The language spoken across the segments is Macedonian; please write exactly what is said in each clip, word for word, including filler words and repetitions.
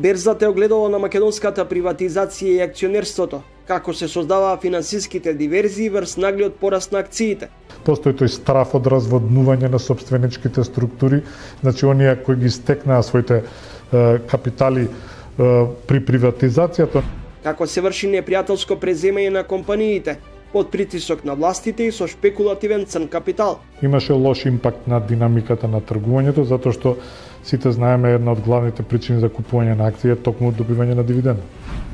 Берзата е огледало на македонската приватизација и акционерството, како се создаваа финансиските диверзии врз наглиот пораст на акциите. Постои тој страф од разводнување на собственичките структури, значи оние кои ги стекнаа своите е, капитали е, при приватизацијата. Како се врши непријателско преземање на компаниите, под притисок на властите и со шпекулативен црн капитал. Имаше лош импакт на динамиката на тргувањето, затоа што сите знаеме една од главните причини за купување на акции е токму добивање на дивиденда.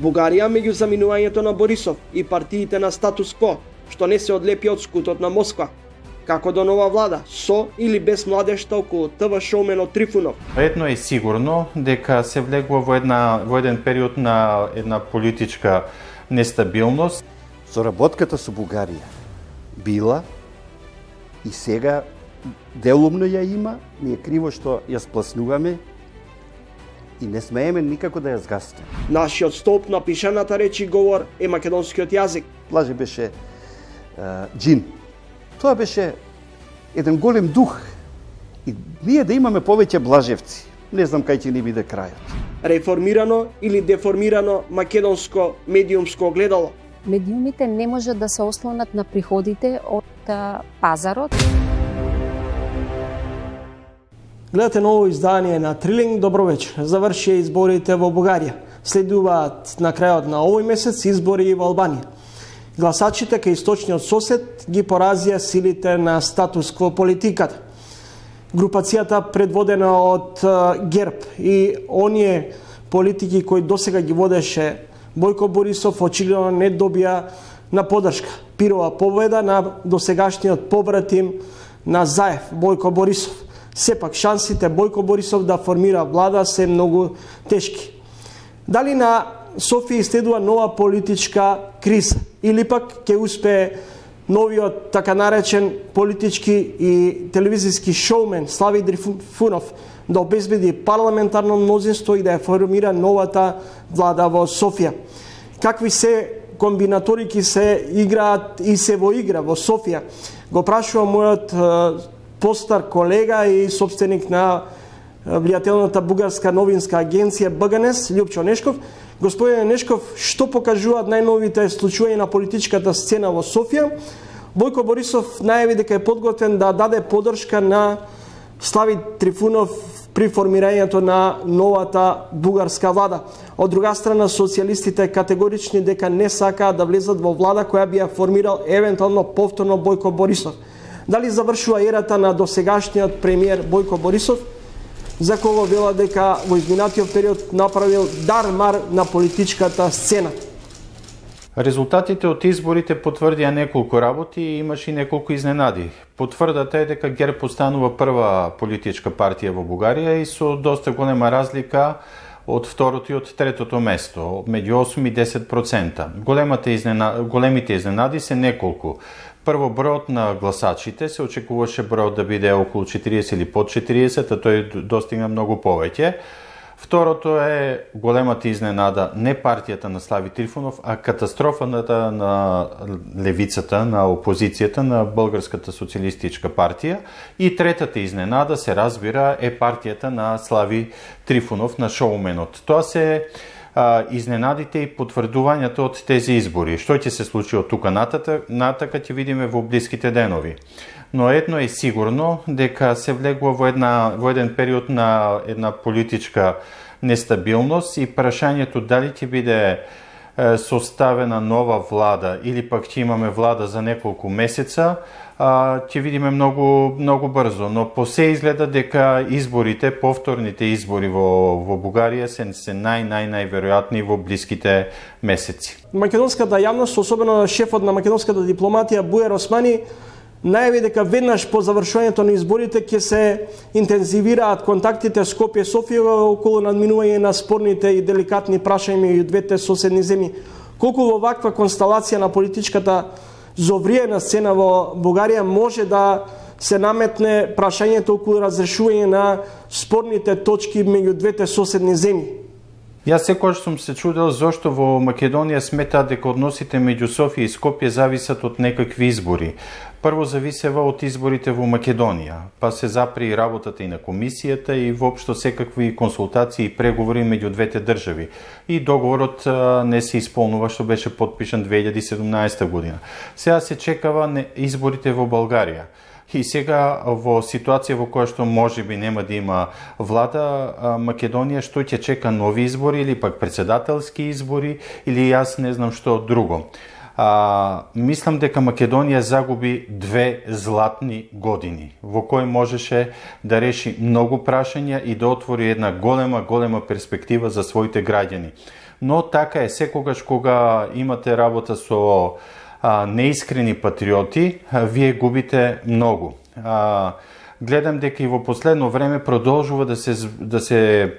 Бугарија меѓу заминувањето на Борисов и партиите на статус кво, што не се одлепи од скутот на Москва. Како до нова влада, со или без младежта околу ТВ шоуменот Трифунов. Едно е сигурно дека се влегува во една во еден период на една политичка нестабилност. Соработката со Бугарија била и сега делумно ја има, ни е криво што ја спласнуваме и не смееме никако да ја згасне. Нашиот столб на пишаната реч и говор е македонскиот јазик. Блаже беше е, джин. Тоа беше еден голем дух. И ние да имаме повеќе блажевци, не знам кај ќе ни биде крајот. Реформирано или деформирано македонско медиумско огледало. Медиумите не можат да се ослонат на приходите од пазарот. Гледате ново издание на Трилинг. Добро вечер. Завршија изборите во Бугарија. Следуваат на крајот на овој месец избори и во Албанија. Гласачите кај источниот сосед ги поразија силите на статус кво политиката. Групацијата предводена од ГЕРБ и оние политики кои досега ги водеше Бојко Борисов очигледно не добија на поддршка. Пирова победа на досегашниот побратим на Заев, Бојко Борисов. Сепак шансите Бојко Борисов да формира влада се многу тешки. Дали на Софија следува нова политичка криза или пак ќе успее новиот така наречен политички и телевизиски шоумен Слави Трифунов да обезбеди парламентарно мнозинство и да ја формира новата влада во Софија. Какви се комбинаторики се играат и се во игра во Софија? Го прашува мојот е, постар колега и собственик на влијателната бугарска новинска агенција БГНЕС, Љупчо Нешков. Господине Нешков, што покажуваат најновите случаи на политичката сцена во Софија? Бојко Борисов најави дека е подготвен да даде поддршка на Слави Трифунов при формирањето на новата бугарска влада. Од друга страна, социјалистите категорични дека не сакаат да влезат во влада која би ја формирал евентуално повторно Бојко Борисов. Дали завршува ерата на досегашниот премиер Бојко Борисов, за кого вела дека во изминатиот период направил дар-мар на политичката сцена? Резултатите од изборите потврдија неколку работи и имаше и неколку изненади. Потврдата е дека ГЕРБ постанува прва политичка партија во Бугарија и со доста голема разлика од второто и од третото место, меѓу осум и десет проценти. Големите изненади, големите изненади се неколку. Прво, бројот на гласачите, се очекуваше бројот да биде околу четириесет или под четириесет, а тој достигна многу повеќе. Второто е големата изненада не партијата на Слави Трифунов, а катастрофата на левицата, на опозицијата, на Българската социјалистичка партија. И третата изненада, се разбира, е партијата на Слави Трифунов, на шоуменот. Тоа се а, изненадите и потврдувањето од тези избори. Што ќе се случи од тука нататък, натака ќе видиме во блиските денови. Но едно е сигурно, дека се влегува во, една, во еден период на една политичка нестабилност и прашањето дали ќе биде е, составена нова влада или пак ќе имаме влада за неколку месеца, а, ќе видиме многу, многу брзо. Но по се изгледа дека изборите, повторните избори во, во Бугарија се, се нај-нај-најверојатни во блиските месеци. Македонската јавност, особено шефот на македонската дипломатија Бујар Османи, најави дека веднаш по завршувањето на изборите ќе се интензивираат контактите Скопје Софија околу надминување на спорните и деликатни прашања меѓу двете соседни земји. Колку во ваква констелација на политичката зовриена сцена во Бугарија може да се наметне прашањето околу разрешување на спорните точки меѓу двете соседни земји? Јас секогаш сум се чудел зошто во Македонија сметаат дека односите меѓу Софија и Скопје зависат од некакви избори. Прво зависева од изборите во Македонија, па се запри работата и на комисијата и воопшто секакви консултации и преговори меѓу двете држави. И договорот не се исполнува што беше подпишан две илјади и седумнаесета година. Сега се чекава изборите во Българија. И сега во ситуација во која што можеби нема да има влада, Македонија што ќе чека нови избори или пак председателски избори или јас не знам што друго. А, мислам дека Македонија загуби две златни години во кои можеше да реши многу прашања и да отвори една голема, голема перспектива за своите граѓани. Но така е, секогаш кога имате работа со а, неискрени патриоти, а, вие губите многу. А, гледам дека и во последно време продолжува да се, да се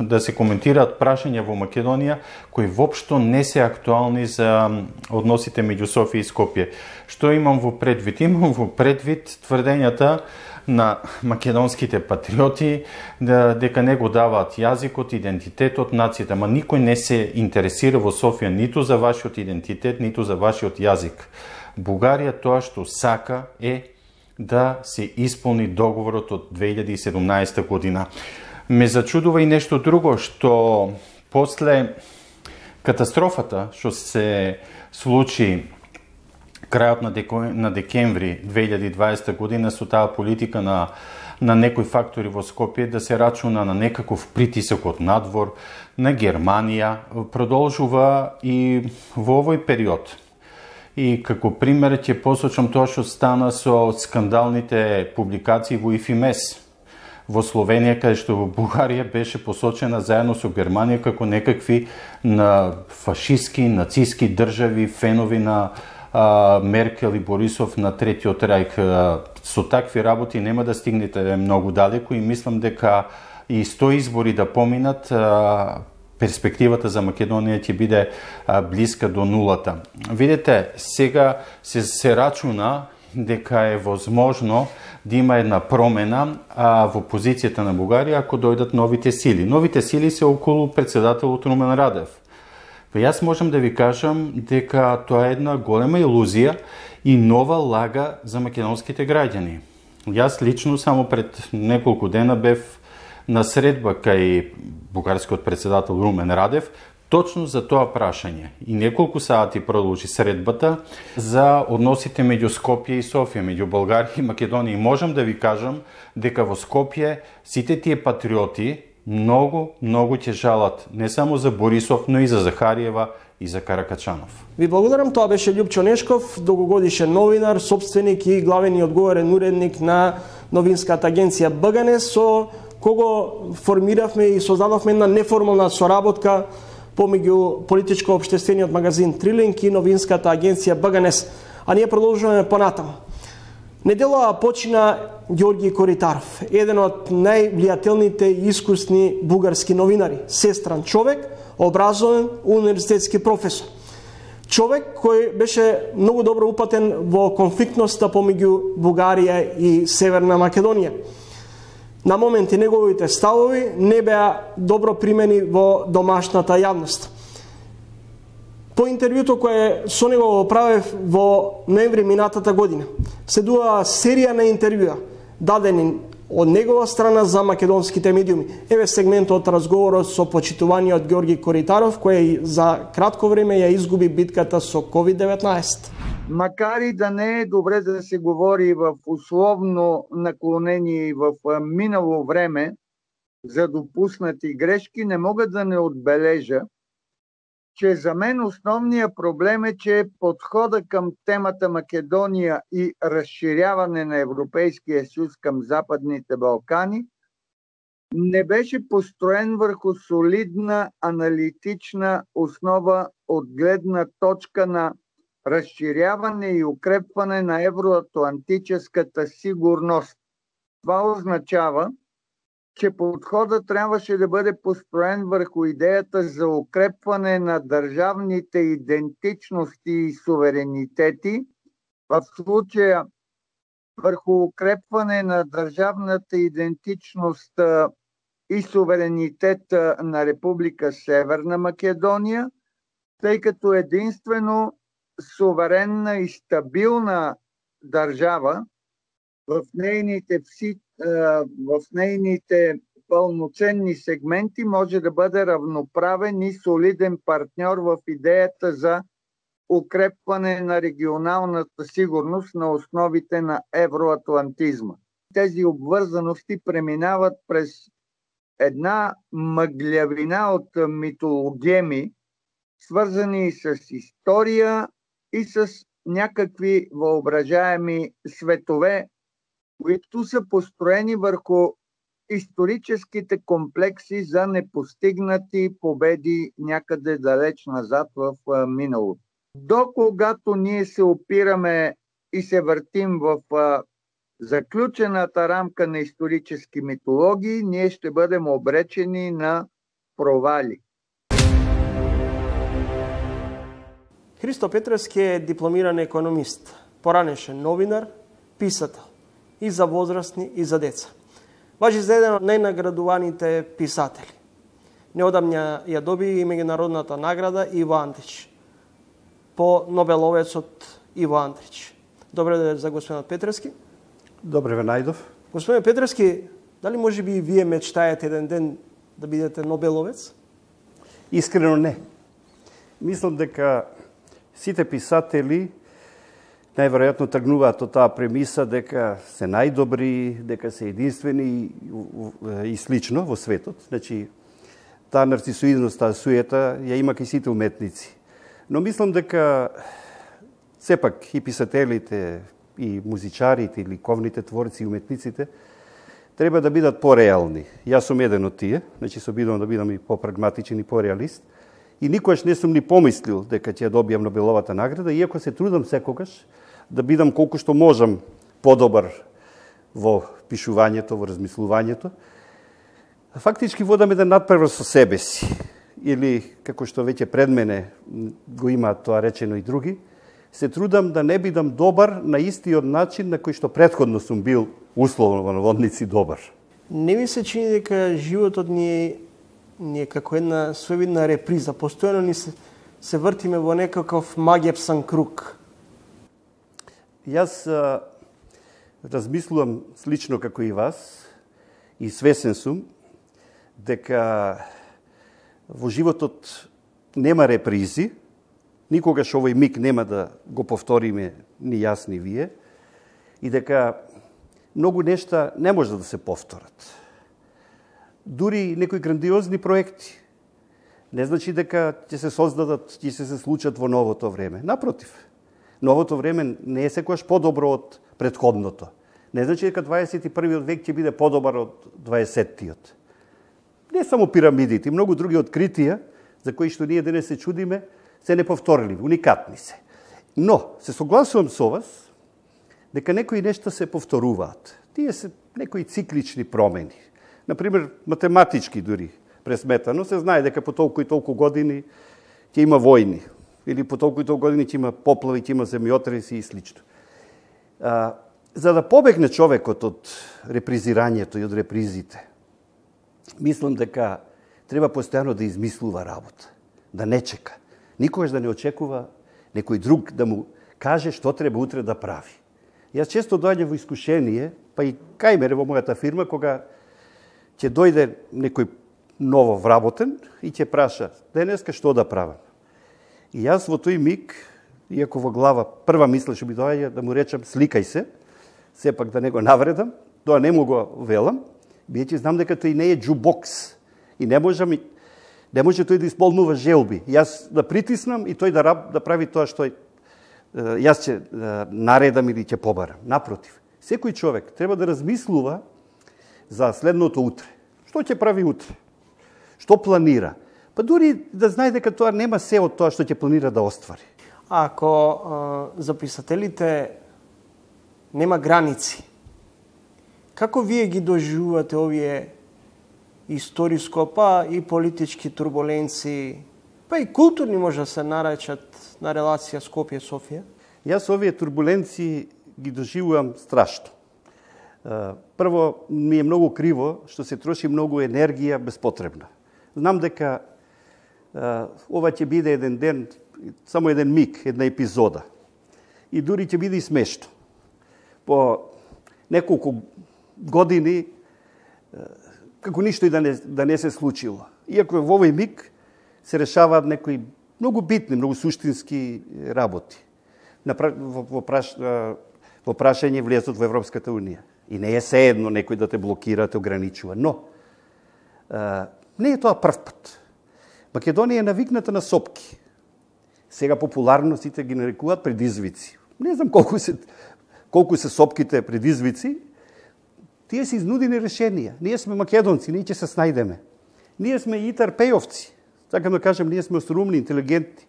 да се коментираат прашања во Македонија кои воопшто не се актуални за односите меѓу Софија и Скопје. Што имам во предвид? Имам во предвид тврдењата на македонските патриоти да, дека не го даваат јазикот, идентитетот, нацијата. Ма никој не се интересира во Софија ниту за вашиот идентитет, ниту за вашиот јазик. Бугарија тоа што сака е да се исполни договорот од две илјади и седумнаесета година. Ме зачудува и нешто друго, што после катастрофата што се случи крајот на, деко, на декември две илјади и дваесета година со таа политика на, на некои фактори во Скопје да се рачуна на некаков притисок од надвор, на Германија, продолжува и во овој период. И како пример ќе посочам тоа што стана со скандалните публикации во ИФИМЕС во Словенија, каде што во Бугарија беше посочена заедно со Германија како некакви на фашистски, нацистски држави, фенови на а, Меркел и Борисов на Третиот рајх. Со такви работи нема да стигнете многу далеко и мислам дека и сто избори да поминат, а, перспективата за Македонија ќе биде а, блиска до нулата. Видете, сега се, се рачуна дека е возможно да има една промена а, во позицијата на Бугарија ако дојдат новите сили. Новите сили се околу председателот Румен Радев. Па јас можам да ви кажам дека тоа е една голема илузија и нова лага за македонските граѓани. Јас лично само пред неколку дена бев на средба кај бугарскиот председател Румен Радев точно за тоа прашање. И неколку сати продолжи средбата за односите меѓу Скопје и Софија, меѓу Българија и Македонија. И можам да ви кажам дека во Скопје сите тие патриоти многу, многу ќе жалат не само за Борисов, но и за Захариева и за Каракачанов. Ви благодарам, тоа беше Љупчо Нешков, долгогодишен новинар, собственик и главен и одговорен уредник на новинската агенција БГНЕС, со кого формиравме и создадовме една неформална соработка помеѓу политичко-општествениот магазин Трилинг и новинската агенција БГНЕС. А ние продолжуваме понатаму. Неделава почина Ѓорги Коритаров, еден од највлијателните и искусни бугарски новинари, сестран човек, образован универзитетски професор. Човек кој беше многу добро упатен во конфликтноста помеѓу Бугарија и Северна Македонија. На моменти неговите ставови не беа добро примени во домашната јавност. По интервјуто кое со него го правев во ноември минатата година, следува серија на интервјуа дадени од негова страна за македонските медиуми. Еве сегментот од разговорот со почитуваниот Ѓорги Коритаров, кој за кратко време ја изгуби битката со ковид деветнаесет. Макар и да не е добре да се говори в условно наклонение и в минало време за допуснати грешки, не мога да не отбележа, че за мен основният проблем е, че подхода към темата Македония и разширяване на Европейския съюз към Западните Балкани не беше построен върху солидна аналитична основа от гледна точка на разширяване и укрепване на евроатлантическата сигурност. Това означава, че подходът трябваше да бъде построен върху идеята за укрепване на държавните идентичности и суверенитети, в случая върху укрепване на държавната идентичност и суверенитет на Република Северна Македония, тъй като единствено суверенна и стабилна држава в нейните, в нейните пълноценни сегменти може да бъде равноправен и солиден партньор в идеята за укрепване на регионалната сигурност на основите на евроатлантизма. Тези обвързаности преминават през една мъглявина от митологеми, свързани с история и с някакви въображаеми светове, които са построени върху историческите комплекси за непостигнати победи някъде далеч назад в миналото. До когато ние се опираме и се въртим в заключената рамка на исторически митологии, ние ще бъдем обречени на провали. Христо Петревски е дипломиран економист, поранешен новинар, писател и за возрастни и за деца. Важи за еден од најнаградуваните писатели. Неодамна ја доби и меѓународната награда Иво Андрич по Нобеловецот Иво Андрич. Добре ден за господинот Петревски. Добре ве најдов. Господин Петревски, дали може би и вие мечтаете еден ден да бидете Нобеловец? Искрено не. Мислам дека сите писатели најверојатно тргнуваат од таа премиса дека се најдобри, дека се единствени и слично во светот. Значи, таа нарцисоидност, таа суета ја има кај сите уметници. Но мислам дека сепак и писателите, и музичарите, и ликовните творци, и уметниците треба да бидат пореални. Јас сум еден од тие, значи се обидувам да бидам и попрагматичен и пореалист. И никогаш не сум ни помислил дека ќе добијам Нобеловата награда, иако се трудам секогаш да бидам колку што можам подобар во пишувањето, во размислувањето. Фактички водам еден надпревар со себе си. Или, како што веќе пред мене го имаат тоа речено и други, се трудам да не бидам добар на истиот начин на кој што претходно сум бил условно во наводници добар. Не ми се чини дека животот ни е, ни е како една своевидна реприза. Постојано ни се, се вртиме во некаков магепсан круг. Јас а, размислувам слично како и вас и свесен сум дека во животот нема репризи, никогаш овој миг нема да го повториме ни јас ни вие, и дека многу нешта не може да се повторат. Дури некои грандиозни проекти не значи дека ќе се создадат, ќе се, се случат во новото време. Напротив, новото време не е секогаш подобро од претходното. Не значи дека дваесет и првиот век ќе биде подобар од дваесеттиот. Не само пирамидите, многу други откритија за кои што ние денес се чудиме, се неповторливи, уникатни се. Но, се согласувам со вас, дека некои нешта се повторуваат. Тие се некои циклични промени. Например, математички дури пресметано, се знае дека по толку и толку години ќе има војни, или по толку и толку години ќе има поплави, ќе има земјотреси и слично. А, за да побегне човекот од репризирањето и од репризите, мислам дека треба постојано да измислува работа, да не чека. Никогаш да не очекува некој друг да му каже што треба утре да прави. Јас често доаѓам во искушение, па и кај мене во мојата фирма, кога ќе дојде некој ново вработен и ќе праша денеска што да правам. И јас во тој миг, иако во глава прва мисла што би доаѓа да му речам сликај се, сепак да не го навредам, тоа не му го велам, биејќи знам дека тој не е джубокс и не можам и не може тој да исполнува желби. Јас да притиснам и тој да, раб, да прави тоа што јас ќе наредам или ќе побарам. Напротив, секој човек треба да размислува за следното утре. Што ќе прави утре? Што планира? Па дури да знае дека тоа нема се од тоа што ќе планира да оствари. Ако а, за писателите нема граници, како вие ги доживувате овие историско, па и политички турбуленции, па и културни може да се наречат на релација Скопје-Софија? Јас овие турбуленции ги доживувам страшно. Прво, ми е многу криво што се троши многу енергија безпотребна. Знам дека ова ќе биде еден ден, само еден миг, една епизода. И дури ќе биде и смешно. по неколку години како ништо и да не, да не се случило. Иако во овој миг се решаваат некои многу битни, многу суштински работи. Во, праш, во прашање влезот во Европската Унија. И не е sejedno некој да те блокира, те ограничува. Но, а, не е тоа прв пат. Македонија е навикната на сопки. Сега популарно сите ги нарекуваат предизвици. Не знам колку се, колку се сопките предизвици, тие се изнудени решенија. Ние сме македонци, ние ќе се снајдеме. Ние сме и тарпејовци. Така да кажем, ние сме острумни, интелигентни.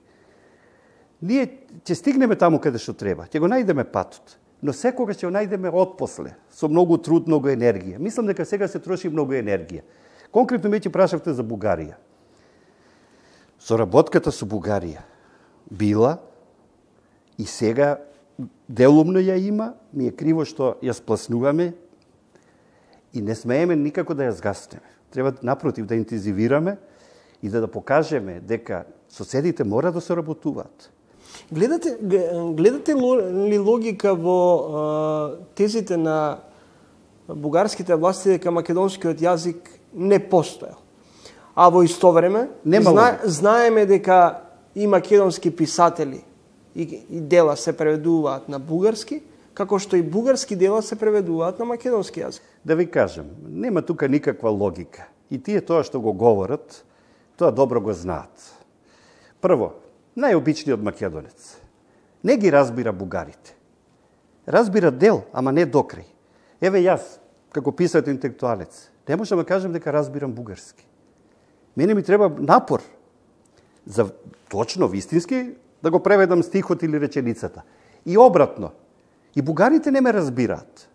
Ние ќе стигнеме таму каде што треба. Ќе го најдеме патот. Но секогаш ќе го најдеме отпосле, со многу труд, многу енергија. Мислам дека сега се троши многу енергија. Конкретно ме ќе прашавте за Бугарија. Соработката со Бугарија била и сега делумно ја има, ми е криво што ја спласнуваме и не смееме никако да ја згаснеме. Треба напротив да интензивираме и да да покажеме дека соседите мора да соработуваат. Гледате, гледате ли логика во а, тезите на бугарските власти дека македонскиот јазик не постоел? А во исто време зна, знаеме дека и македонски писатели и, и дела се преведуваат на бугарски, како што и бугарски дела се преведуваат на македонски јазик. Да ви кажем, нема тука никаква логика. И тие тоа што го говорат, тоа добро го знаат. Прво, најобичниот македонец не ги разбира бугарите. Разбира дел, ама не докрај. Еве јас, како писател интелектуалец, не можам да кажем дека разбирам бугарски. Мене ми треба напор за точно, вистински, да го преведам стихот или реченицата. И обратно. И бугарите не ме разбираат.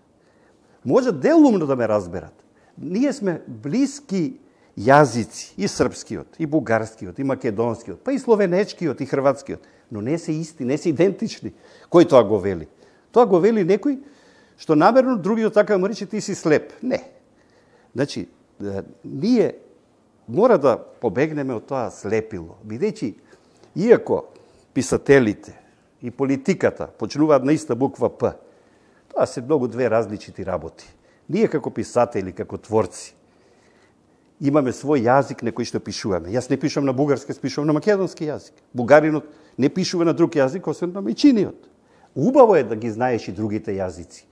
Може делумно да ме разберат. Ние сме блиски јазици, и српскиот, и бугарскиот, и македонскиот, па и словенечкиот, и хрватскиот. Но не се исти, не се идентични. Кој тоа го вели? Тоа го вели некој што намерно другиот така му рече ти си слеп. Не. Значи, ние мора да побегнеме од тоа слепило. Бидејќи, иако писателите и политиката почнуваат на иста буква П, тоа се многу две различити работи. Ние како писатели, како творци, имаме свој јазик на кој што пишуваме. Јас не пишувам на бугарски, пишувам на македонски јазик. Бугаринот не пишува на друг јазик, освен на мајчиниот. Убаво е да ги знаеш и другите јазици.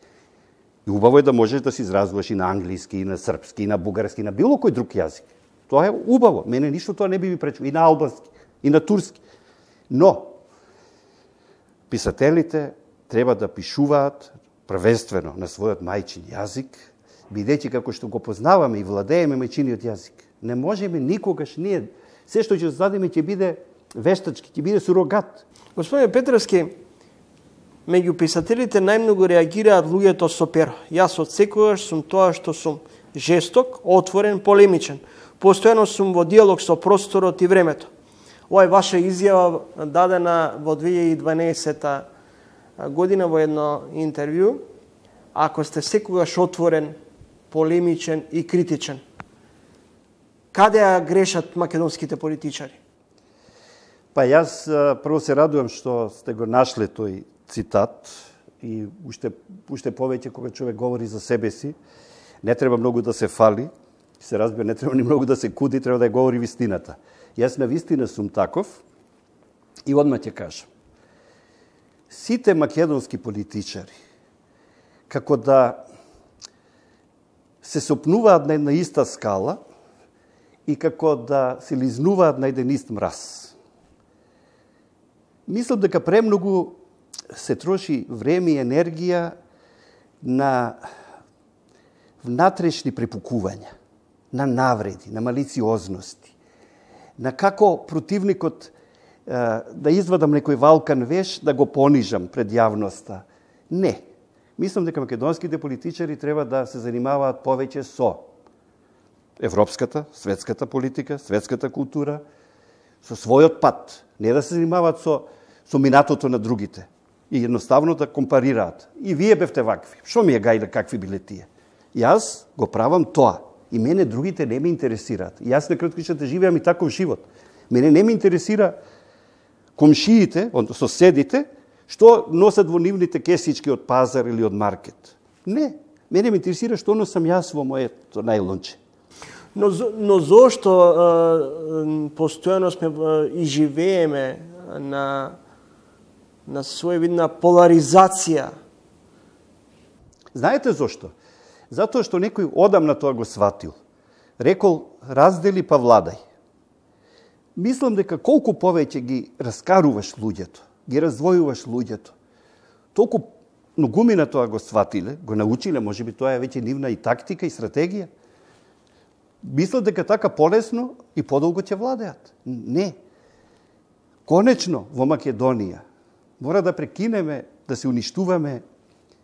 И убаво е да можеш да се изразуваш и на англиски, и на српски, и на бугарски, и на било кој друг јазик. Тоа е убаво. Мене ништо тоа не би ми пречило. И на албански, и на турски. Но, писателите треба да пишуваат првенствено на својот мајчин јазик, бидејќи како што го познаваме и владееме мајчиниот јазик. Не можеме никогаш ние, се што ќе зададеме ќе биде вештачки, ќе биде сурогат. Господине Петровски, меѓу писателите најмногу реагираат луѓето со перо. Јас од секогаш сум тоа што сум жесток, отворен, полемичен. Постојано сум во диалог со просторот и времето. Ова е ваша изјава дадена во две илјади и дванаесета година во едно интервју. Ако сте секогаш отворен, полемичен и критичен, каде ја грешат македонските политичари? Па јас прво се радувам што сте го нашле тој цитат и уште, уште повеќе кога човек говори за себе си, не треба многу да се фали, се разбира, не треба ни многу да се куди, треба да ја говори вистината. Јас на вистина сум таков и одма ќе кажам. Сите македонски политичари, како да се сопнуваат на една иста скала и како да се лизнуваат на еден ист мраз. Мислам дека премногу се троши време и енергија на внатрешни препукувања, на навреди, на малициозности, на како противникот да извадам некој валкан веш, да го понижам пред јавноста. Не. Мислам дека македонските политичари треба да се занимаваат повеќе со европската, светската политика, светската култура, со својот пат. Не да се занимаваат со, со минатото на другите. И едноставно да компарираат. И вие бевте вакви. Што ми е гајле какви биле тие? Јас го правам тоа. И мене другите не ме интересираат. И јас на кратко ќе да живеам и таков живот. Мене не ме интересира комшиите, соседите, Што носат во нивните кесички од пазар или од маркет? Не. Мене ме интересира што носам јас во моето најлонче. Но, но зошто е, постојано сме и живееме на, на своевидна поларизација? Знаете зошто? Затоа што некој одамна тоа го сватил. Рекол, раздели па владај. Мислам дека колку повеќе ги раскаруваш луѓето, ги раздвојуваш луѓето, толку многумина тоа го сватиле, го научиле, може би тоа е веќе нивна и тактика и стратегија. Мислат дека така полесно и подолго ќе владеат. Не. Конечно, во Македонија мора да прекинеме да се уништуваме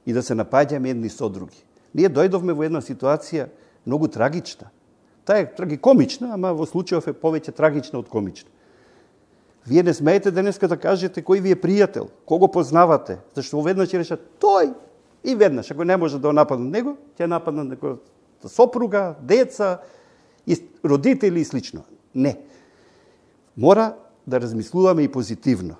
и да се напаѓаме едни со други. Ние дојдовме во една ситуација многу трагична. Таа е трагикомична, ама во случајов е повеќе трагична од комична. Вие не смеете денеска да кажете кој ви е пријател, кого познавате, зашто веднаш ќе решат тој и веднаш, ако не може да нападнат него, ќе нападнат некоја сопруга, деца, и родители и слично. Не. Мора да размислуваме и позитивно.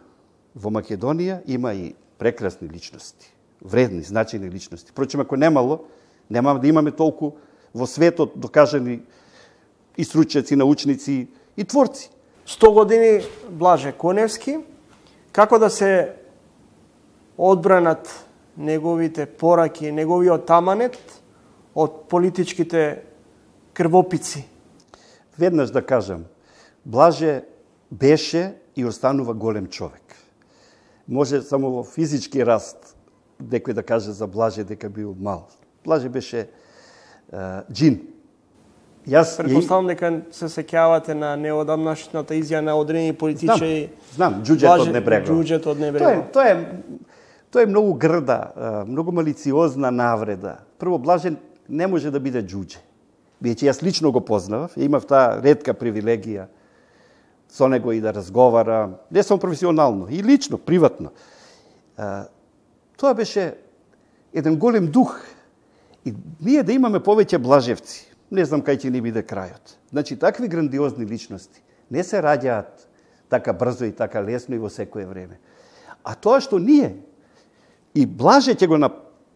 Во Македонија има и прекрасни личности, вредни, значајни личности. Впрочем, ако немало, нема да имаме толку во светот докажани и стручњаци, научници и творци. сто години Блаже Коневски, како да се одбранат неговите пораки, неговиот таманет од политичките крвопици? Веднаш да кажам, Блаже беше и останува голем човек. Може само во физички раст некој да каже за Блаже дека бил мал. Блаже беше uh, джин. Јас Предпоставам дека се сеќавате на неодамнашната изјава на одредени политичари. Знам, знам, џуџето од Небрегова. Џуџето од Небрегова. Тоа е, тоа е, тоа е многу грда, многу малициозна навреда. Прво, Блаже не може да биде џуџе. Бијќи јас лично го познавав, имав таа ретка привилегија со него и да разговара, не само професионално, и лично, приватно. Тоа беше еден голем дух. И ние да имаме повеќе Блажевци, не знам кај ќе ни биде крајот. Значи, такви грандиозни личности не се раѓаат така брзо и така лесно и во секое време. А тоа што ние и Блаже ќе го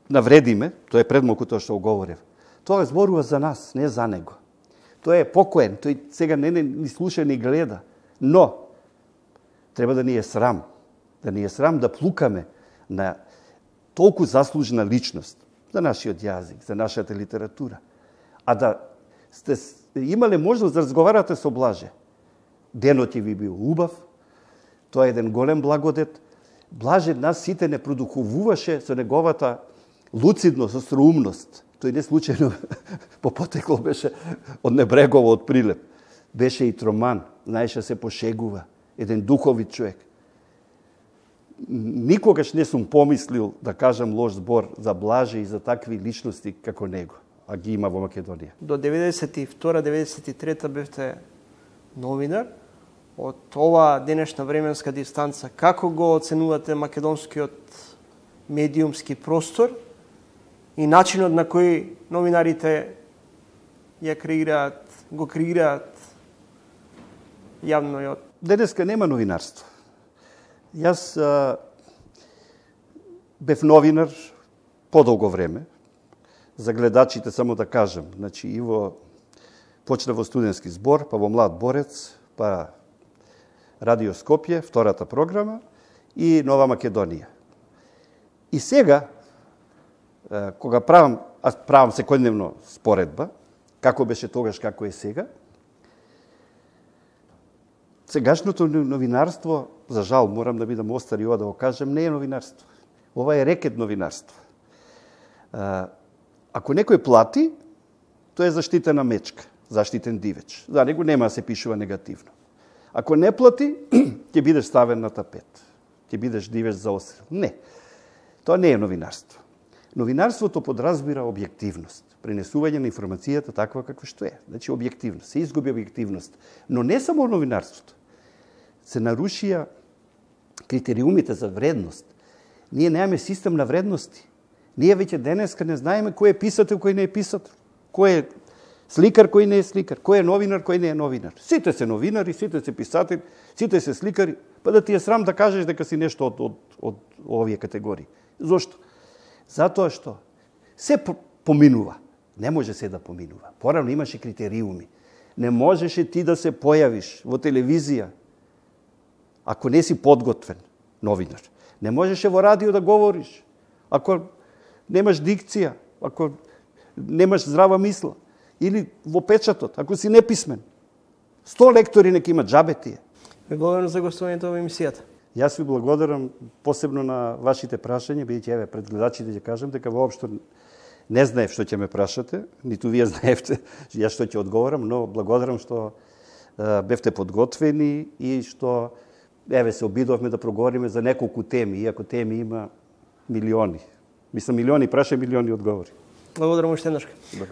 навредиме, тоа е предмалку тоа што оговорев, тоа зборува за нас, не за него. Тој е покоен, тој сега не ни слуша ни гледа. Но, треба да ни е срам, да ни е срам да плукаме на толку заслужена личност за нашиот јазик, за нашата литература. А да сте имале можност да разговарате со Блаже. Денот ќе ви бил убав, тоа е еден голем благодет. Блаже нас сите не продуховуваше со неговата луцидност, остроумност. Тој не случајно по потекло беше од Небрегова, од Прилеп. Беше и троман, знаеше се пошегува, еден духовит човек. Никогаш не сум помислил да кажам лош збор за Блаже и за такви личности како него, а ги има во Македонија. До деветдесет и втора деветдесет и трета бевте новинар. Од ова денешна временска дистанца, како го оценувате македонскиот медиумски простор и начинот на кој новинарите ја креираат, го креираат јавно? Денеска нема новинарство. Јас а, бев новинар подолго време. За гледачите само да кажам, значи и во почна во студентски збор, па во Млад борец, па Радио Скопје, втората програма и Нова Македонија. И сега кога правам, аз правам секојдневно споредба, како беше тогаш, како е сега, сегашното новинарство, за жал, морам да бидам остар и ова да го кажем, не е новинарство. Ова е рекет новинарство. Ако некој плати, тоа е заштитена мечка, заштитен дивеч. За него нема да се пишува негативно. Ако не плати, ќе бидеш ставен на тапет. Ќе бидеш дивеч за острел. Не. Тоа не е новинарство. Новинарството подразбира објективност, пренесување на информацијата таква каква што е. Значи објективност, се изгуби објективност. Но не само новинарството. Се нарушија критериумите за вредност. Ние немаме систем на вредности. Ние веќе денеска не знаеме кој е писател, кој не е писател. Кој е сликар, кој не е сликар. Кој е новинар, кој не е новинар. Сите се новинари, сите се писатели, сите се сликари. па да ти е срам да кажеш дека си нешто од, од, од овие категории. Зошто? Затоа што се поминува. Не може се да поминува. Порано имаше критериуми. Не можеше ти да се појавиш во телевизија ако не си подготвен новинар. Не можеше во радио да говориш ако немаш дикција, ако немаш здрава мисла. Или во печатот, ако си неписмен. Сто лектори нека имат, джабе тие. Ви благодарам за гостувањето во емисијата. Јас ви благодарам посебно на вашите прашања, бидејќи еве пред гледачите ќе кажам дека воопшто не знаев што ќе ме прашате, ниту вие знаевте јас што ќе одговорам, но благодарам што е, бевте подготвени и што еве се обидовме да проговориме за неколку теми, иако теми има милиони. Мислам милиони праша, милиони одговори. Благодарам уште еднаш.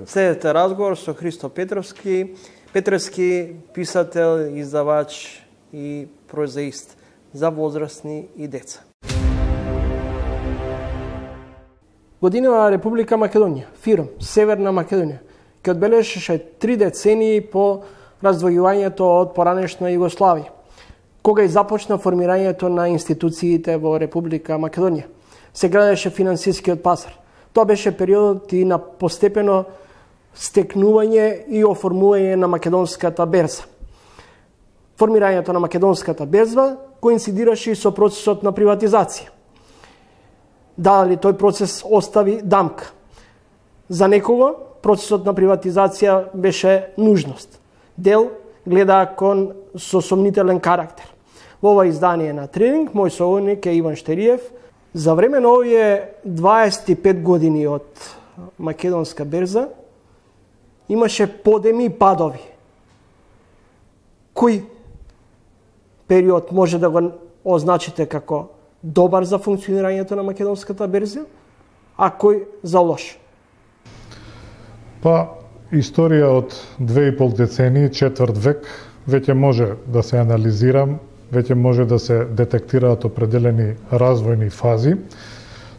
Следете разговор со Христо Петровски, Петревски, писател, издавач и прозаист за возрастни и деца. Годинава Република Македонија, ФИРОМ, Северна Македонија, ќе одбележеше три децении по раздвојувањето од поранешна Југославија, кога и започна формирањето на институциите во Република Македонија. Се градеше финансискиот пазар. Тоа беше периодот и на постепено стекнување и оформување на македонската берза. Формирањето на македонската берза коинцидираше и со процесот на приватизација. Дали тој процес остави дамка? За некого процесот на приватизација беше нужност. Дел гледа кон со сомнителен карактер. Во ова издание на Тренинг, мој соговорник е Иван Штериев. За време на овие дваесет и пет години од македонска берза имаше подеми и падови. Кој период може да го означите како добар за функционирањето на македонската берза, а кој за лош? Па, историја од две и пол децении, четврт век, веќе може да се анализира, веќе може да се детектираат определени развојни фази.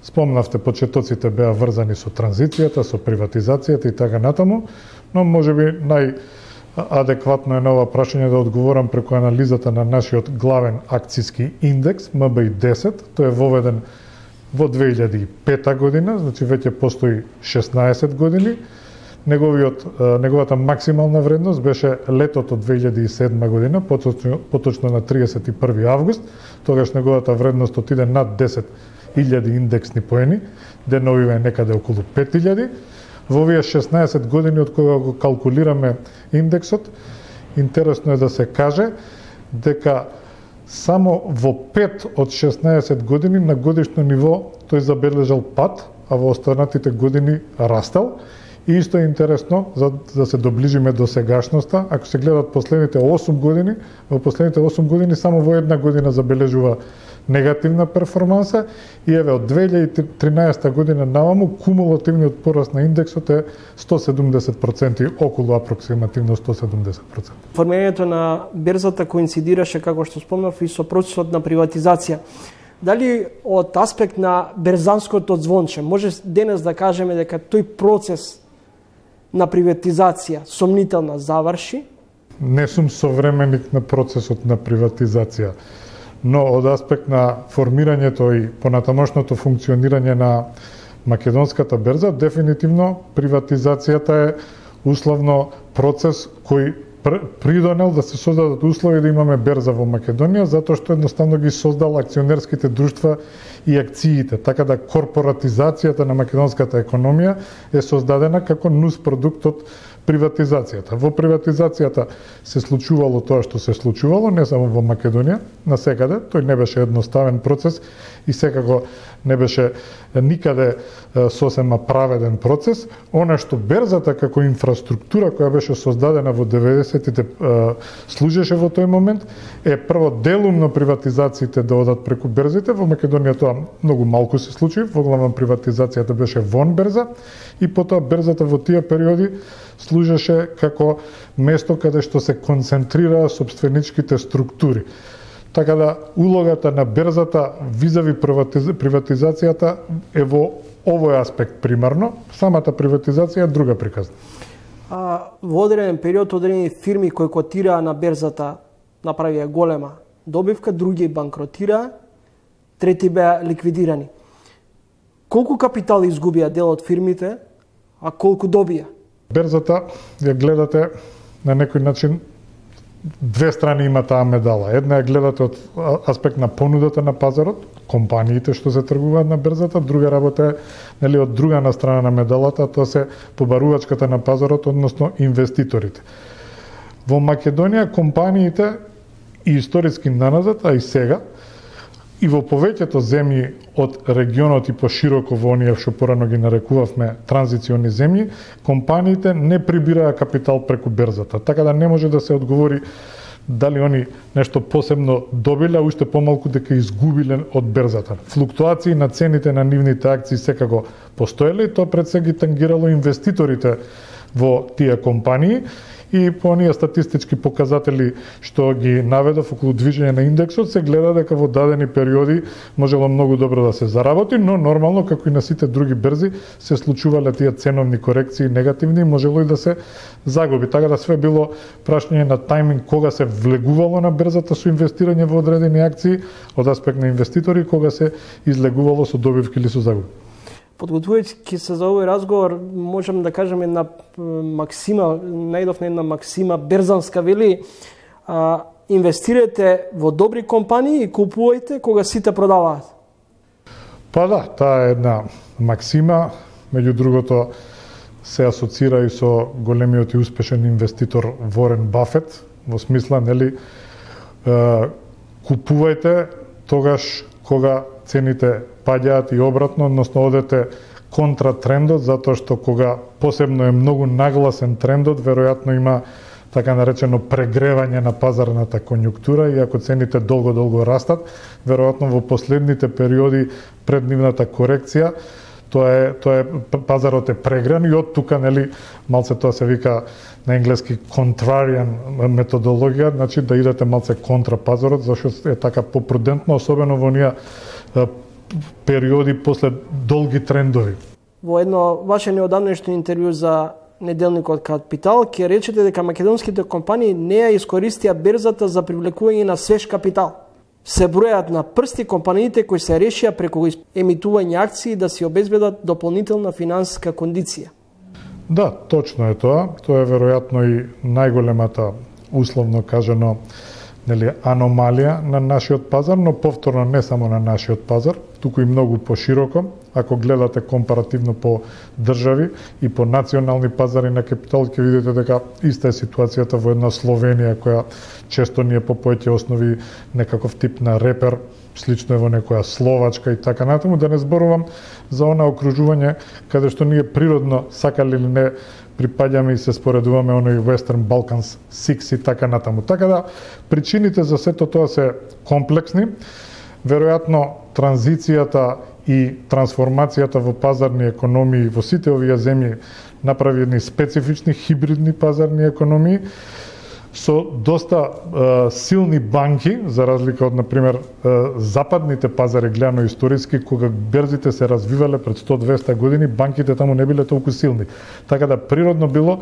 Спомнавте, почетоците беа врзани со транзицијата, со приватизацијата и така натаму, но можеби најадекватно е на ова прашање да одговорам преку анализата на нашиот главен акциски индекс, М Б И десет, тој е воведен во две илјади и пета година, значи веќе постои шеснаесет години. Неговиот, неговата максимална вредност беше летото две илјади и седма година, поточно, поточно на триесет и први август, тогаш неговата вредност отиде над десет илјади индексни поени, деновиве е некаде околу пет илјади. Во овие шеснаесет години од кога го калкулираме индексот, интересно е да се каже дека само во пет од шеснаесет години на годишно ниво тој забележал пад, а во останатите години растал. И исто е интересно, за да се доближиме до сегашноста, ако се гледат последните осум години, во последните осум години само во една година забележува негативна перформанса и еве од две илјади и тринаесета година наваму кумулативниот пораст на индексот е сто седумдесет проценти, околу апроксимативно сто седумдесет проценти. Формирањето на берзата коинцидираше, како што спомнав, и со процесот на приватизација. Дали од аспект на берзанското звонче може денес да кажеме дека тој процес на приватизација сомнителна заврши? Не сум современик на процесот на приватизација, но од аспект на формирањето и понатамошното функционирање на македонската берза, дефинитивно приватизацијата е условно процес кој придонел да се создадат услови да имаме берза во Македонија, затоа што едноставно ги создал акционерските друштва и акциите, така да корпоратизацијата на македонската економија е создадена како нус продукт од приватизацијата. Во приватизацијата се случувало тоа што се случувало, не само во Македонија, насекаде, тој не беше едноставен процес и секако не беше никаде сосема праведен процес. Она што берзата како инфраструктура која беше создадена во деветдесетите служеше во тој момент, е прво делумно приватизациите да одат преку берзите. Во Македонија тоа многу малку се случи, во главна приватизацијата беше вон берза и потоа берзата во тие периоди служеше како место каде што се концентрираа собственичките структури. Така да улогата на берзата визави приватизацијата е во овој аспект примарно, самата приватизација е друга приказна. А, во одреден период одредени фирми кои котираа на берзата направија голема добивка, други банкротираа, трети беа ликвидирани. Колку капитал изгубија дел од фирмите, а колку добија? Берзата ја гледате на некој начин, две страни има таа медала. Една ја гледате од аспект на понудата на пазарот, компаниите што се тргуваат на берзата, друга работа е нели од друга на страна на медалата, тоа се побарувачката на пазарот, односно инвеститорите. Во Македонија компаниите и историски наназад, а и сега, и во повеќето земји од регионот и пошироко во оние што порано ги нарекувавме транзициони земји, компаниите не прибираа капитал преку берзата. Така да не може да се одговори дали они нешто посебно добиле, а уште помалку дека изгубиле од берзата. Флуктуации на цените на нивните акции секако постоеле и тоа пред се ги тангирало инвеститорите во тие компании. И по оние статистички показатели што ги наведов околу движење на индексот, се гледа дека во дадени периоди можело многу добро да се заработи, но нормално, како и на сите други берзи, се случувале тие ценовни корекции негативни и можело и да се загуби. Така да све било прашање на тајминг кога се влегувало на берзата со инвестирање во одредени акции од аспект на инвеститори, кога се излегувало со добивки или со загуби. Подготвувајќи се за овој разговор, можам да кажем една максима, најдов на една максима берзанска, вели, а, инвестирате во добри компании и купувајте кога сите продаваат. Па да, таа е една максима, меѓу другото се асоцира и со големиот и успешен инвеститор Ворен Бафет, во смисла, нели, е, купувајте тогаш кога цените паѓаат и обратно, односно одете контра трендот, затоа што кога посебно е многу нагласен трендот, веројатно има така наречено прегревање на пазарната конјунктура и ако цените долго-долго растат, веројатно во последните периоди пред нивната корекција, тоа е тоа е пазарот е прегран и од тука нели малце тоа се вика на енглески contrarian методологија, значи да идете малце контра пазарот, зашто е така попрудентно, особено во оние периоди после долги трендови. Во едно ваше неодамнешно интервју за неделникот Капитал ќе речете дека македонските компании не ја искористија берзата за привлекување на свеж капитал. Се бројат на прсти компаниите кои се решија преку емитување акции да си обезбедат дополнителна финансиска кондиција. Да, точно е тоа. Тоа е веројатно и најголемата, условно кажано, нели, аномалија на нашиот пазар, но повторно не само на нашиот пазар, туку и многу пошироко. Ако гледате компаративно по држави и по национални пазари на капитал, ќе видите дека иста е ситуацијата во една Словенија, која често ни е по поеќе основи некаков тип на репер, слично е во некоја Словачка и така натаму, да не зборувам за она окружување каде што ние природно, сакали или не, припаѓаме и се споредуваме оној Western Balkans Six и така натаму. Така да, причините за сето тоа се комплексни. Веројатно, транзицијата и трансформацијата во пазарни економии во сите овие земји направи едни специфични хибридни пазарни економии со доста е, силни банки, за разлика од, например, е, западните пазари, гледано историски, кога берзите се развивале пред сто-двеста години, банките таму не биле толку силни. Така да природно било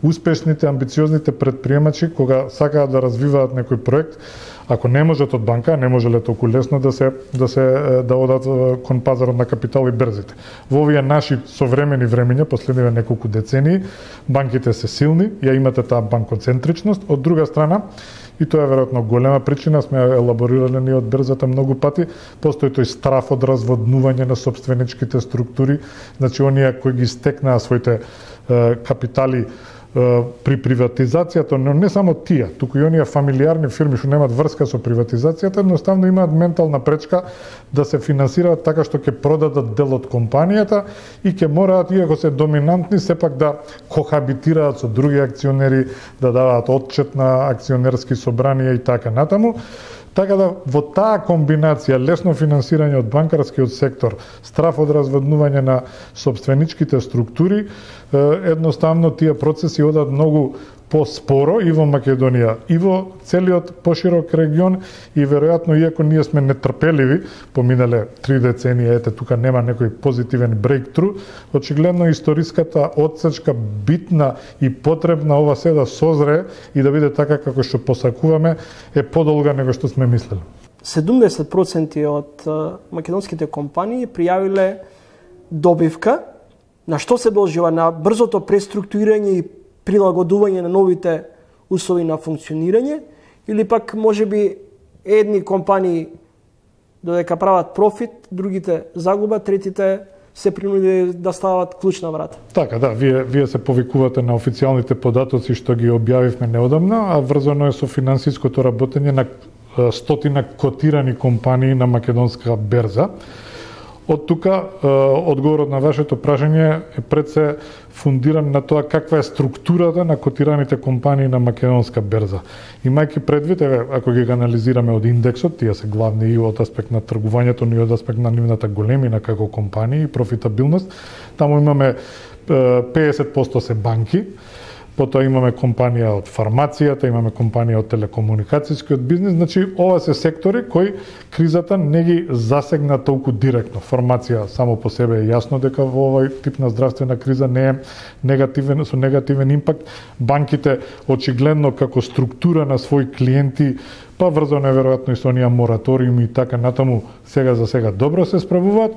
успешните, амбициозните предприемачи, кога сакаат да развиваат некој проект, ако не можат од банка, не можеле толку лесно да се да се да одат кон пазарот на капитал и берзите. Во овие наши современи времења, последниве неколку децении, банките се силни, ја имате таа банкоцентричност. Од друга страна, и тоа е веројатно голема причина, сме елаборирале ние од берзата многу пати, постои тој страф од разводнување на собственичките структури, значи оние кои ги стекнаа своите е, капитали при приватизацијата, но не само тие, туку и оние фамилиарни фирми што немаат врска со приватизацијата, едноставно имаат ментална пречка да се финансираат така што ќе продадат дел од компанијата и ќе мораат, иако се доминантни, сепак да кохабитираат со други акционери, да даваат отчет на акционерски собранија и така натаму. Така да, во таа комбинација лесно финансирање од банкарскиот сектор, страф од разводнување на собственичките структури, едноставно тие процеси одат многу поспоро и во Македонија, и во целиот поширок регион, и веројатно, иако ние сме нетрпеливи, поминале три децении, ете, тука нема некој позитивен брейктру, очигледно историската одсечка битна и потребна ова се да созрее и да биде така како што посакуваме, е подолга него што сме мислели. седумдесет проценти од македонските компании пријавиле добивка. На што се должува? На брзото преструктурирање и прилагодување на новите услови на функционирање, или пак можеби едни компании додека прават профит, другите загуба, третите се принудени да стават клучна врата. Така, да, вие, вие се повикувате на официјалните податоци што ги објавивме неодамна, а врзано е со финансиското работење на стотина котирани компании на македонска берза. Од тука, одговорот на вашето прашање е пред се фундиран на тоа каква е структурата на котираните компании на македонска берза. Имајќи предвид, еве, ако ги анализираме од индексот, тие се главни и од аспект на тргувањето, но и од аспект на нивната големина како компании и профитабилност, таму имаме педесет проценти се банки, потоа имаме компанија од фармацијата, имаме компанија од телекомуникацијскиот бизнес, значи ова се сектори кои кризата не ги засегна толку директно. Фармација само по себе е јасно дека во овој тип на здравствена криза не е негативен, со негативен импакт. Банките очигледно како структура на своји клиенти, па врзано е веројатно и со оние мораториуми и така натаму, сега за сега добро се справуваат.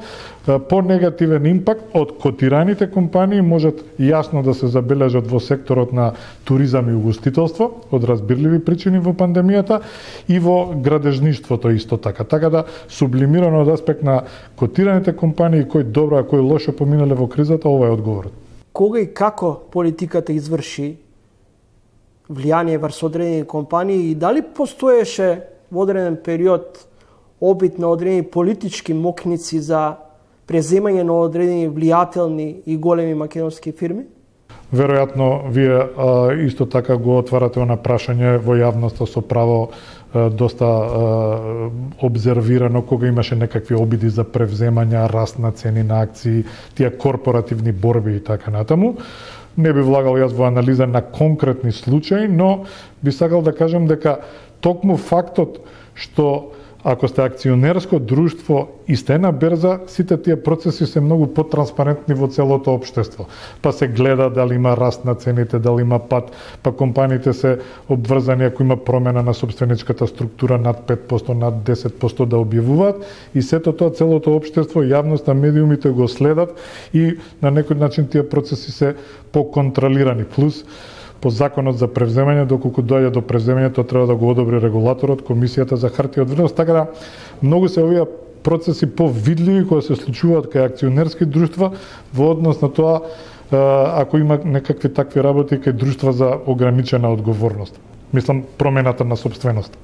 По негативен импакт од котираните компании можат јасно да се забележат во секторот на туризам и угостителство, од разбирливи причини во пандемијата, и во градежништвото исто така. Така да, сублимирано од аспект на котираните компании, кои добро, а кои лошо поминале во кризата, ова е одговорот. Кога и како политиката изврши влијание врз одредени компании и дали постоеше во одреден период обид на одредени политички мокници за преземање на одредени влијателни и големи македонски фирми? Веројатно, вие а, исто така го отварате на прашање во јавноста со право а, доста а, обзервирано кога имаше некакви обиди за превземања, раст на цени на акции, тие корпоративни борби и така натаму. Не би влагал јас во анализа на конкретни случаи, но би сакал да кажам дека токму фактот што ако сте акционерско друштво и сте на берза, сите тие процеси се многу потранспарентни во целото општество. Па се гледа дали има раст на цените, дали има пад, па компаниите се обврзани ако има промена на собственичката структура над пет проценти, над десет проценти да објавуваат, и сето тоа целото општество, јавноста, медиумите го следат и на некој начин тие процеси се поконтролирани. Плюс по законот за превземање, доколку дојде до превземањето, треба да го одобри регулаторот, Комисијата за хартија од вредност, така да многу се овие процеси повидливи кои се случуваат кај акционерски друштва во однос на тоа ако има некакви такви работи кај друштва за ограничена одговорност. Мислам, промената на собственост.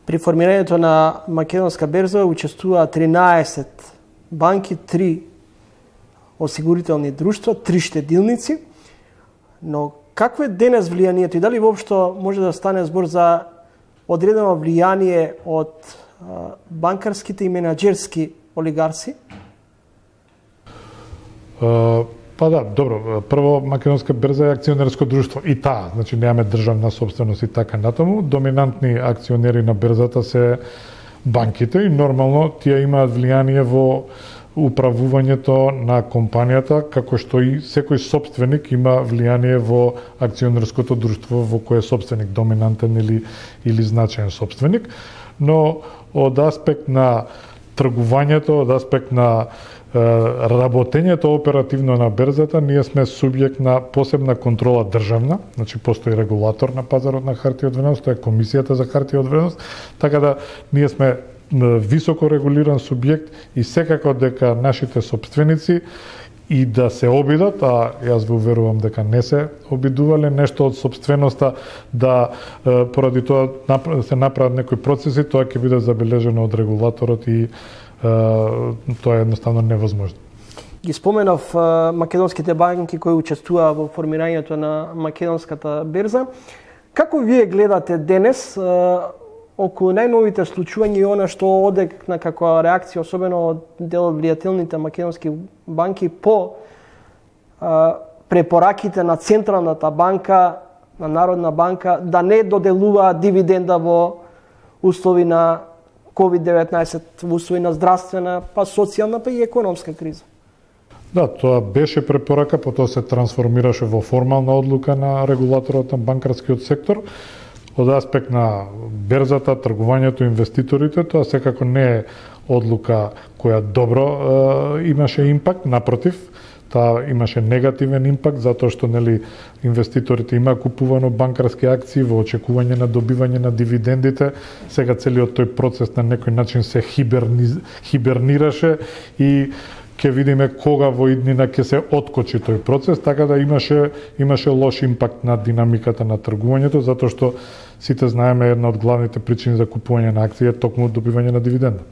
При формирањето на македонска берза учествуваа тринаесет банки, три осигурителни друштва, три штедилници, но какво е денес влијанието и дали воопшто може да стане збор за одредено влијание од а, банкарските и менаџерски олигарси? Uh, па да, добро. Прво, Македонска берза е акционерско друштво и таа, значи немаме државна собственост и така натаму. Доминантни акционери на берзата се банките и нормално тие имаат влијание во управувањето на компанијата, како што и секој собственик има влијание во акционерското друштво во кое е собственик, доминантен или, или значаен собственик. Но од аспект на тргувањето, од аспект на е, работењето оперативно на берзата, ние сме субјект на посебна контрола државна, значи постои регулатор на пазарот на хартија од вредност, тоа е Комисијата за хартија од вредност, така да ние сме високо регулиран субјект и секако дека нашите собственици и да се обидат, а јас ве уверувам дека не се обидувале нешто од собственоста, да поради тоа се направат некои процеси, тоа ќе биде забележено од регулаторот и тоа е едноставно невозможно. Ги споменав македонските банки кои учествуваа во формирањето на македонската берза. Како вие гледате денес околу најновите случувања и она што одекна како реакција, особено од дел од влијателните македонски банки по а, препораките на Централната банка на Народна банка да не доделува дивиденда во услови на ковид деветнаесет, во услови на здравствена, па социјална, па и економска криза. Да, тоа беше препорака, потоа се трансформираше во формална одлука на регулаторот на банкарскиот сектор. Од аспект на берзата, тргувањето, инвеститорите, тоа секако не е одлука која добро е, имаше импакт, напротив, таа имаше негативен импакт затоа што нели инвеститорите има купувано банкарски акции во очекување на добивање на дивидендите. Сега целиот тој процес на некој начин се хиберни, хибернираше и ќе видиме кога во иднина ќе се откочи тој процес, така да имаше имаше лош импакт на динамиката на тргувањето, затоа што сите знаеме една од главните причини за купување на акции е токму добивање на дивиденда.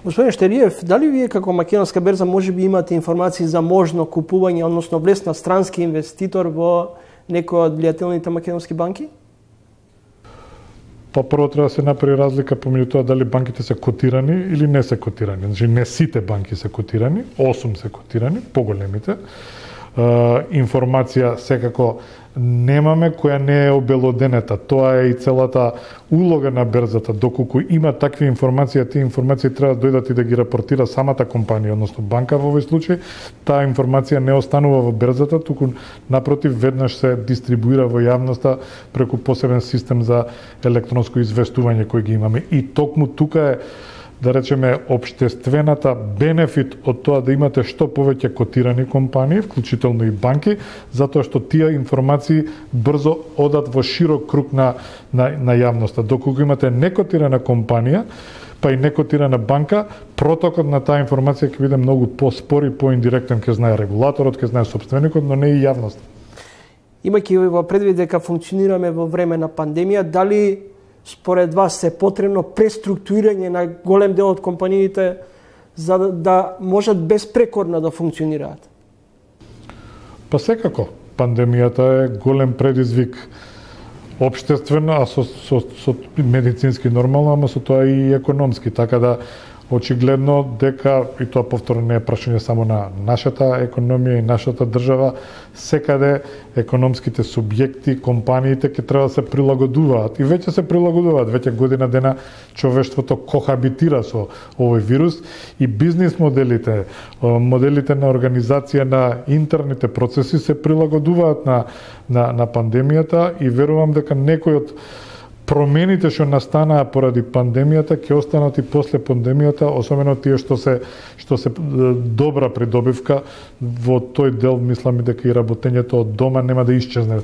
Господин Штериев, дали вие како македонска берза можеби имате информации за можно купување, односно влез на странски инвеститор во некој од влијателните македонски банки? Па прво треба да се направи разлика помеѓу тоа дали банките се котирани или не се котирани. Значи не сите банки се котирани, осум се котирани, поголемите. Е, информација секако немаме која не е обелоденета. Тоа е и целата улога на берзата. Доколку има такви информации, тие информации треба да дојдат и да ги рапортира самата компанија, односно банка во овој случај. Таа информација не останува во берзата, туку напротив веднаш се дистрибуира во јавноста преку посебен систем за електронско известување кој ги имаме. И токму тука е, да речеме, општествената бенефит од тоа да имате што повеќе котирани компании, вклучително и банки, затоа што тие информации брзо одат во широк круг на, на, на јавноста. Доколку имате некотирана компанија, па и некотирана банка, протокот на таа информација ќе биде многу поспор и поиндиректен, ќе знае регулаторот, ќе знае сопственикот, но не и јавноста. Имајќи во предвид дека функционираме во време на пандемија, дали според вас е потребно преструктурирање на голем дел од компаниите за да, да можат безпрекорно да функционираат? Па секако, пандемијата е голем предизвик општествено, а со, со, со медицински нормално, ама со тоа и економски, така да очигледно дека, и тоа повторно не е прашање само на нашата економија и нашата држава, секаде економските субјекти, компаниите ќе треба да се прилагодуваат. И веќе се прилагодуваат, веќе година дена човештвото кохабитира со овој вирус и бизнис моделите, моделите на организација на интерните процеси се прилагодуваат на, на, на пандемијата и верувам дека некој од промените што настанаа поради пандемијата ќе останат и после пандемијата, особено тие што се што се добра придобивка во тој дел, мислам дека и работењето од дома нема да исчезне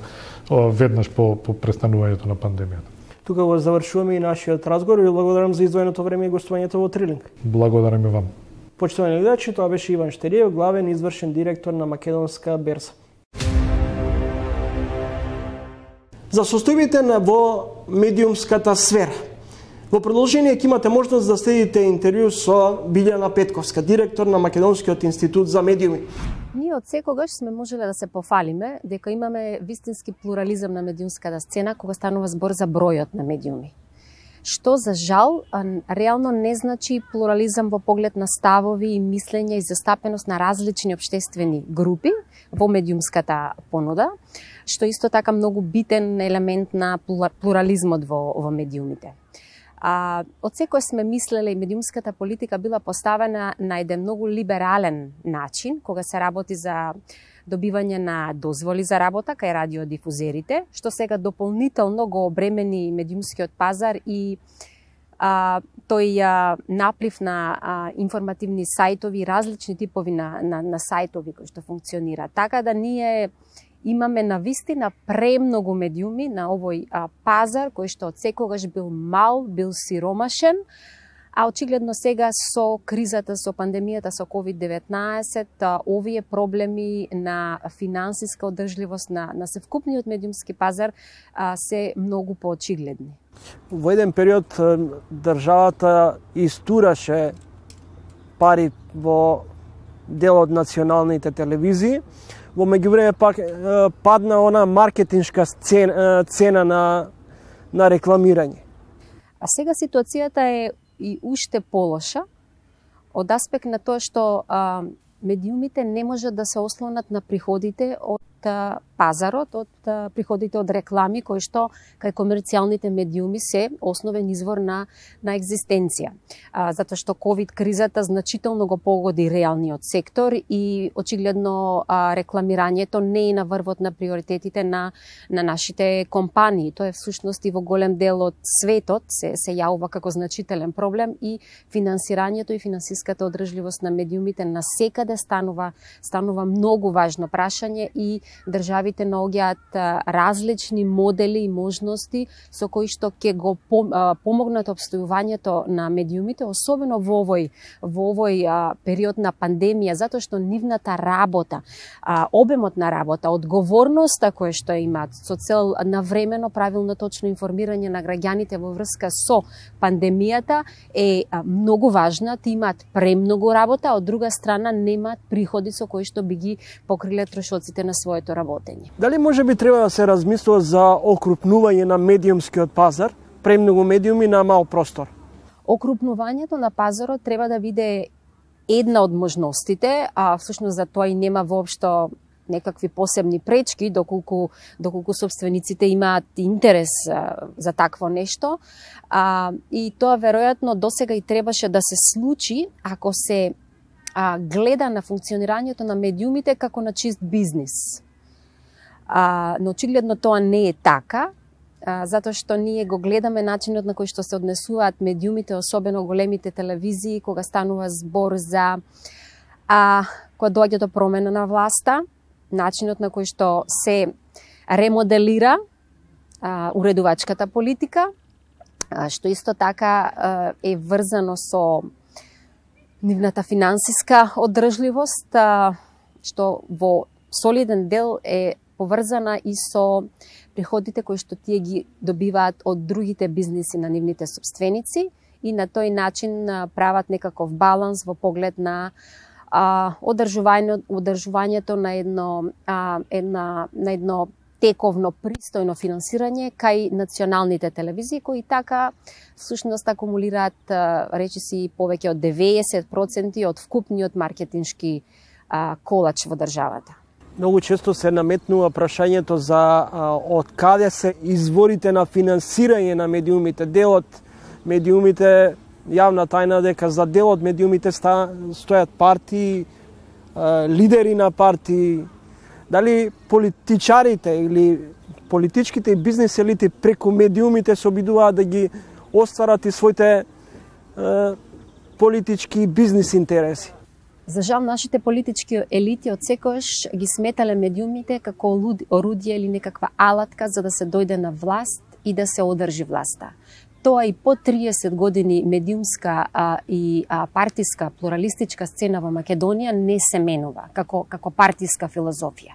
веднаш по, по престанувањето на пандемијата. Тука го завршуваме и нашиот разговор и благодарам за издвоеното време и гостувањето во Трилинг. Благодарам и вам. Почитувани гледачи, тоа беше Иван Штериев, главен извршен директор на Македонска берза. За состојбите на во медиумската сфера. Во продолжение ќе имате можност да следите интервју со Билјана Петковска, директор на Македонскиот институт за медиуми. Ние од секогаш сме можеле да се пофалиме дека имаме вистински плурализам на медиумската сцена кога станува збор за бројот на медиуми. Што за жал реално не значи плурализам во поглед на ставови и мислење и застапеност на различни општествени групи во медиумската понуда, што исто така многу битен елемент на плурализмот во, во медиумите. А, од секој сме мислеле и медиумската политика била поставена на еден многу либерален начин, кога се работи за добивање на дозволи за работа кај радиодифузерите, што сега дополнително го обремени медиумскиот пазар и а, тој а, наплив на а, информативни сајтови, различни типови на, на, на сајтови кои што функционираат. Така да ние имаме на вистина премногу медиуми на овој а, пазар кој што од секогаш бил мал, бил сиромашен, а очигледно сега со кризата, со пандемијата, со ковид деветнаесет, овие проблеми на финансиска одржливост на, на севкупниот медиумски пазар а, се многу поочигледни. Во еден период државата истураше пари во дел од националните телевизии, во меѓувреме пак падна она маркетиншка цена, цена на, на рекламирање. А сега ситуацијата е и уште полоша од аспект на тоа што а, медиумите не можат да се ослонат на приходите од а, пазарот, од приходите од реклами, кои што кај комерцијалните медиуми се основен извор на, на екзистенција. А, затоа што ковид кризата значително го погоди реалниот сектор и очигледно а, рекламирањето не е на врвот на приоритетите на, на нашите компании. Тоа е всушност и во голем дел од светот се, се јавува како значителен проблем и финансирањето и финансиската одржливост на медиумите на секаде станува, станува многу важно прашање и државите наоѓаат различни модели и можности со кои што ќе го помогнат обстојувањето на медиумите, особено во овој во овој а, период на пандемија, затоа што нивната работа, а, обемот на работа, одговорноста која што имаат со цел навремено правилно точно информирање на граѓаните во врска со пандемијата е а, многу важна. Ти имаат премногу работа, од друга страна немаат приходи со кои што би ги покриле трошоците на своето работење. Дали може би треба да се размислува за окрупнување на медиумскиот пазар, премногу медиуми на мал простор? Окрупнувањето на пазарот треба да биде една од можностите, а всушност за тоа и нема воопшто некакви посебни пречки, доколку, доколку собствениците имаат интерес а, за такво нешто. А, и тоа веројатно досега и требаше да се случи ако се а, гледа на функционирањето на медиумите како на чист бизнис. А, но очигледно тоа не е така, а, затоа што ние го гледаме начинот на кој што се однесуваат медиумите, особено големите телевизии, кога станува збор за а, кога доаѓа до промена на власта, начинот на кој што се ремоделира а, уредувачката политика, а, што исто така а, е врзано со нивната финансиска одржливост, а, што во солиден дел е поврзана и со приходите кои што тие ги добиваат од другите бизниси на нивните собственици и на тој начин а, прават некаков баланс во поглед на а, одржување, одржувањето на едно, а, една, на едно тековно, пристојно финансирање кај националните телевизии, кои така всушност акумулираат, речиси, повеќе од деветдесет проценти од вкупниот маркетиншки а, колач во државата. Многу често се наметнува прашањето за а, од каде се изворите на финансирање на медиумите. Дел од медиумите, јавна тајна дека за дел од медиумите ста, стојат партии, а, лидери на партии. Дали политичарите или политичките и бизнес елити преку медиумите се обидуваат да ги остварат и своите е, политички бизнес интереси? За жал, нашите политички елити од секојаш ги сметале медиумите како орудие или некаква алатка за да се дојде на власт и да се одржи власта. Тоа и по триесет години медиумска а, и а, партиска плуралистичка сцена во Македонија не се менува како, како партиска филозофија.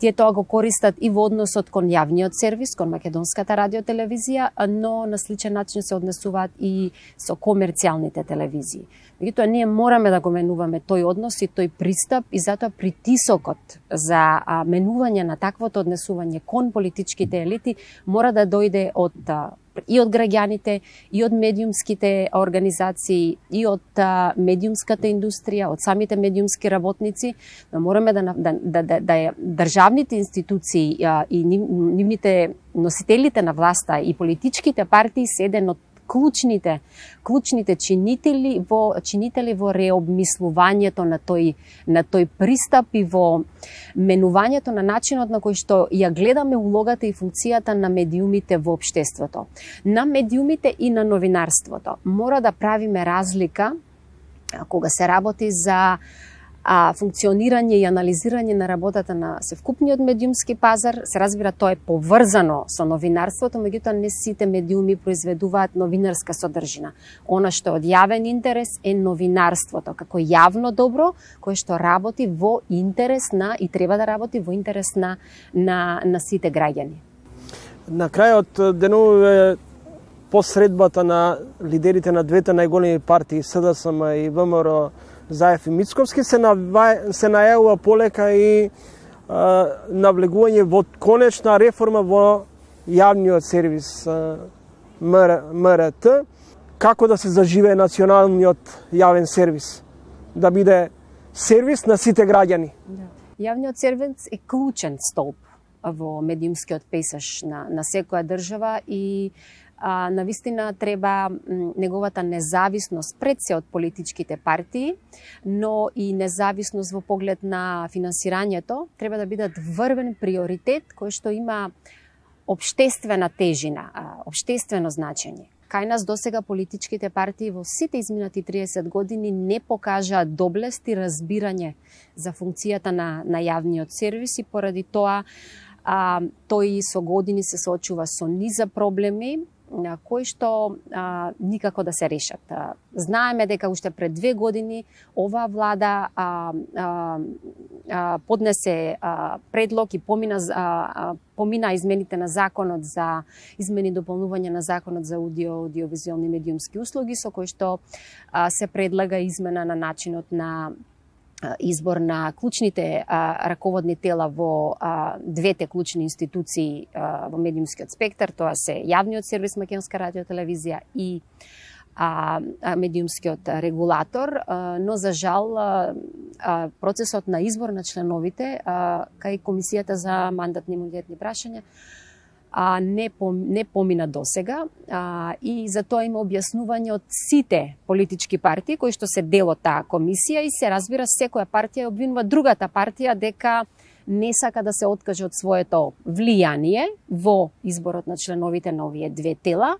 Тие тоа го користат и во односот кон јавниот сервис, кон македонската радиотелевизија, но на сличен начин се однесуваат и со комерцијалните телевизии. Меѓутоа, ние мораме да го менуваме тој однос и тој пристап и затоа притисокот за а, менување на таквото однесување кон политичките елити мора да дојде од а, и од граѓаните, и од медиумските организации, и од а, медиумската индустрија, од самите медиумски работници, но мораме да, да, да, да, да државните институции а, и нивните носителите на власта и политичките партии се еден од клучните, клучните чинители во чинители во реобмислувањето на тој на тој пристап и во менувањето на начинот на кој што ја гледаме улогата и функцијата на медиумите во општеството. На медиумите и на новинарството мора да правиме разлика кога се работи за а функционирање и анализирање на работата на севкупниот медиумски пазар. Се разбира, тоа е поврзано со новинарството, меѓутоа не сите медиуми произведуваат новинарска содржина. Она што е од јавен интерес е новинарството, како јавно добро, кое што работи во интерес на и треба да работи во интерес на, на, на сите граѓани. На крајот деновиве по средбата на лидерите на двете најголеми партии, СДСМ и ВМРО, Заев и Мицковски, се, нава... се најавува полека и а, навлегување во конечна реформа во јавниот сервис МРТ, како да се заживее националниот јавен сервис, да биде сервис на сите граѓани. Да. Јавниот сервис е клучен столб во медиумскиот пейсаж на, на секоја држава и а, навистина треба неговата независност пред се од политичките партии, но и независност во поглед на финансирањето треба да бидат врвен приоритет кој што има општествена тежина, општествено значење. Кај нас досега политичките партии во сите изминати триесет години не покажаа доблест и разбирање за функцијата на, на јавниот сервис и поради тоа а, тој со години се соочува со низа проблеми на кои што а, никако да се решат. А, знаеме дека уште пред две години оваа влада а, а, а, поднесе а, предлог и помина, а, а, помина измените на законот за измени и дополнување на законот за аудио, аудиовизуелни медиумски услуги, со кој што а, се предлага измена на начинот на избор на клучните а, раководни тела во а, двете клучни институции а, во медиумскиот спектар, тоа се јавниот сервис Македонска радиотелевизија и а, а, медиумскиот регулатор, а, но за жал а, а, процесот на избор на членовите а, кај Комисијата за мандатни имунитетни прашања а, не, пом, не помина досега а, и за тоа има објаснување од сите политички партии кои што се дел од таа комисија и се разбира секоја партија обвинува другата партија дека не сака да се откаже од своето влијание во изборот на членовите на овие две тела,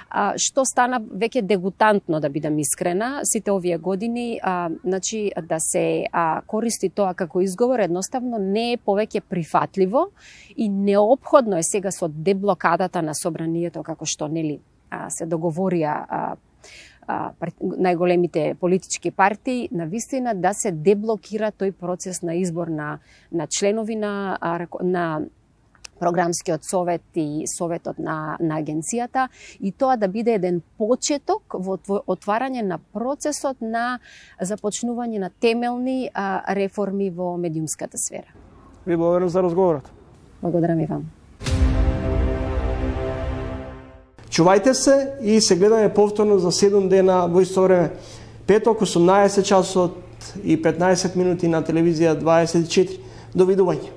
а, што стана веќе дегутантно, да бидам искрена, сите овие години, а, значи да се а, користи тоа како изговор, едноставно не е повеќе прифатливо и неопходно е сега со деблокадата на собранието, како што нели а, се договорија а, најголемите политички партии, на вистина да се деблокира тој процес на избор на, на членови на, на програмскиот совет и советот на, на агенцијата и тоа да биде еден почеток во отварање на процесот на започнување на темелни а, реформи во медиумската сфера. Ви благодарам за разговорот. Благодарам и вам. Чувајте се и се гледаме повторно за седум дена во исто време. Петок, осумнаесет часот и петнаесет минути на телевизија дваесет и четири. Довидување.